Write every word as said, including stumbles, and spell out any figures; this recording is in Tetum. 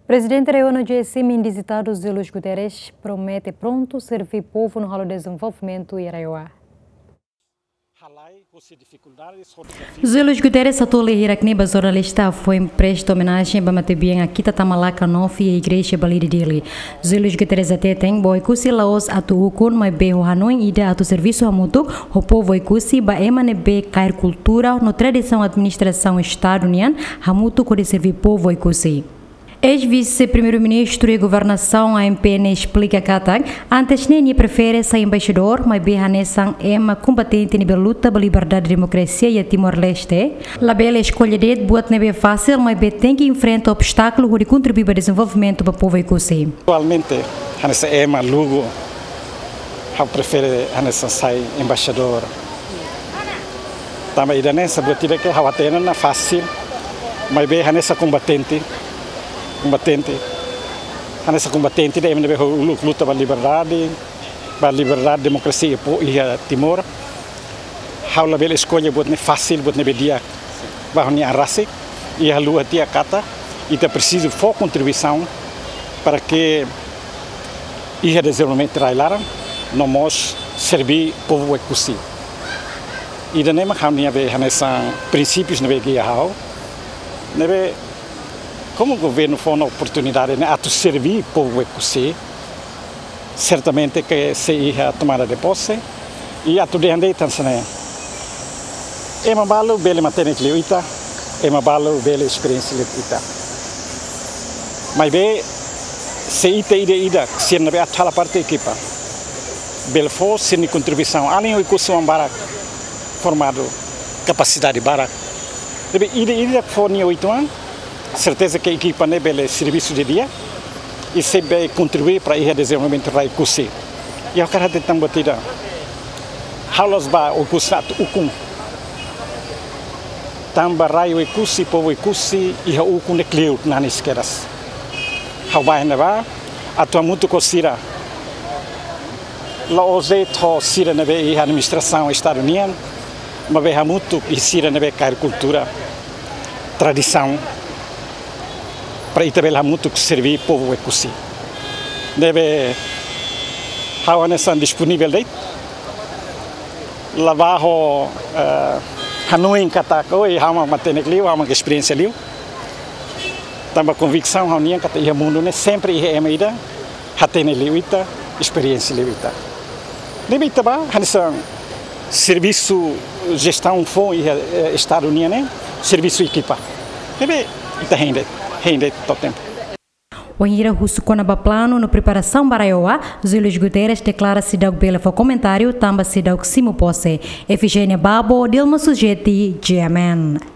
Prezidente RAEOA no G S M indizitadu José Luís Guterres promete prontu serví povu no halo dezenvolvimentu iha RAEOA. José Luís Guterres atu lee hirak ne'e ba jornalista foin presta omenajen ba matebian Akita Tamalaka Novi iha Igreja Balide Dili. José Luís Guterres hateten ba Oekusi la'ós atu ukun, maibé ho hanoin ida atu servisu hamutuk ho povu Oekusi ba ema ne'ebé kaer kultura no tradisaun administrasaun Estadu nian hamutuk hodi serví povu Oekusi. Eis-Vise-Primeiru-Ministru iha governasaun A M P ne'e esplika katak, antes ne'e nia prefere sai embaixadór, maibé hanesan ema kombatente ne'ebé luta ba liberdade demokrasia iha Timor-Leste, labele eskolla de'it buat ne'ebé fasil, maibé tenke enfrenta obstákulu hodi kontribui ba dezenvolvimentu ba povu Oekusi. Atualmente, hanesan ema lugu, ha'u prefere hanesan sai embaixadór. Tanba ida-ne'e, saida buat ida ke ha'u hatene ona fasil, maibé hanesan kombatente, kombatente, hanesan kombatente ida ema ne'ebé uluk luta ba liberdade, ba liberdade, demokrasia iha po-, iha Timor. Ha'u labele eskolla buat ne'e fasil, buat ne'ebé di'ak ba ha'u-nia an rasik, i haluha tiha katak ita presiza fó kontribuisaun para ke iha dezenvolvimentu rai-laran, no mós serví povu Oekusi. Ida-ne'e mak ha'u-nia be hanesan prinsípius ne'ebé gia ha'u. Ne'ebé, komu governu fó ona oportunidade ne'e atu serví povu Oekusi, sertamente ke sei iha tomada de pose, i atu dehan de'it hanesan ne'e: ema balu bele matenek liu ita, ema balu bele esperiénsia liu ita. Maibé, se ita ida-idak sira ne'ebé atu halo parte ekipa, bele fó sira-nia kontribuisaun, alin Oekusi oan barak formadu, kapasidade barak. Ne'ebé ida-idak fó nia uitoan, serteza ke ekipa ne'e bele servisu di'ak, i sei bele kontribui para iha dezenvolvimentu rai Oekusi. I ha'u hakarak hateten tan buat ida. Ha'u la'ós ba Oekusi atu ukun. Tanba rai Oekusi, povu Oekusi, iha ukun ne'e kleur nanis kedas. Ha'u bá iha ne'ebá atu hamutuk ho sira. La'ós de'it ho sira ne'ebé iha administrasaun Estadu nian, maibé hamutuk ho sira ne'ebé kaer kultura, tradisaun, para ita bele hamutuk serví povu Oekusi. Ne'ebé ha'u hanesan disponivel de'it, la bá ho, eh, hanoin katak, oi, ha'u mak matenek liu, ha'u mak esperiénsia liu. Tanba konviksaun ha'u-nian katak iha mundu ne'e sempre iha ema ida hatene liu ita, esperiénsia liu ita. Ne'ebé ita bá hanesan servisu jestaun foun iha, eh, Estadu nian ne'e, servisu ekipa. Ne'ebé ita hein de'it, hein de'it to'o tempu. Wainhira husu kona-ba planu no preparasaun ba RAEOA, José Luís Guterres deklara seidauk bele fó komentáriu tanba seidauk simu pose. Efigénia Babo, Dilma Sujeti, G M N.